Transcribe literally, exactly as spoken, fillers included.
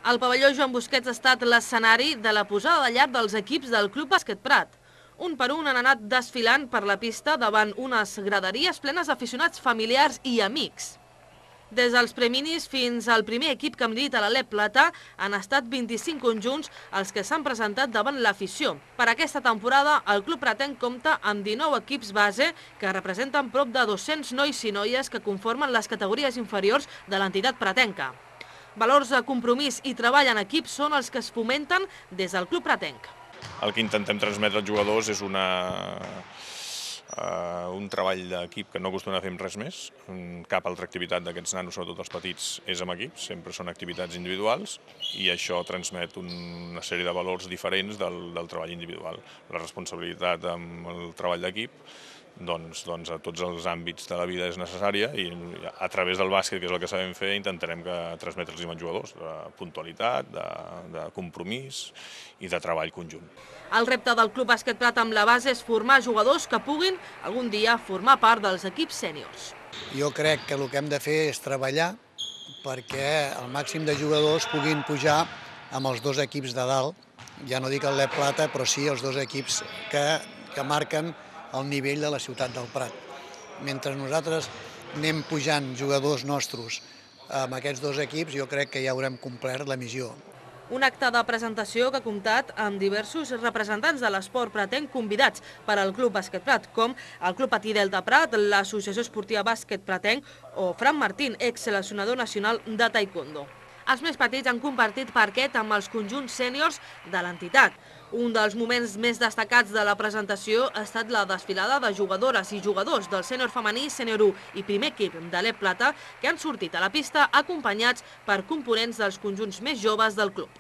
El pavelló Joan Busquets ha estat l'escenari de la posada de llar dels equips del Club Bàsquet Prat. Un per un han anat desfilant per la pista davant unes graderies plenes d'aficionats familiars i amics. Des dels preminis fins al primer equip que milita a l'Alep Plata han estat vint-i-cinc conjunts els que s'han presentat davant l'afició. Per aquesta temporada, el club pratenc compta amb dinou equips base que representen prop de dos-cents nois i noies que conformen les categories inferiors de l'entitat pratenca. Valors de compromís i treball en equip són els que es fomenten des del club pratenc. El que intentem transmetre als jugadors és una, uh, un treball d'equip que no acostumem a fer amb res més. Cap altra activitat d'aquests nanos, sobretot els petits, és amb equips, sempre són activitats individuals i això transmet una sèrie de valors diferents del, del treball individual. La responsabilitat amb el treball d'equip, doncs, doncs a tots els àmbits de la vida és necessària i a través del bàsquet, que és el que sabem fer, intentarem que transmetre'ls als jugadors de puntualitat, de, de compromís i de treball conjunt. El repte del Club Bàsquet Prat amb la base és formar jugadors que puguin algun dia formar part dels equips sèniors. Jo crec que el que hem de fer és treballar perquè el màxim de jugadors puguin pujar amb els dos equips de dalt, ja no dic el l'Alep Plata, però sí els dos equips que, que marquen el nivell de la ciutat del Prat. Mentre nosaltres anem pujant jugadors nostres amb aquests dos equips, jo crec que ja haurem complert la missió. Un acte de presentació que ha comptat amb diversos representants de l'esport pratenc convidats per al Club Bàsquet Prat, com el Club Patí Delta Prat, l'Associació Esportiva Bàsquet Pratenc o Fran Martín, ex-seleccionador nacional de taekwondo. Els més petits han compartit parquet amb els conjunts sèniors de l'entitat. Un dels moments més destacats de la presentació ha estat la desfilada de jugadores i jugadors del sènior femení, sènior u i primer equip de l'Alep Plata, que han sortit a la pista acompanyats per components dels conjunts més joves del club.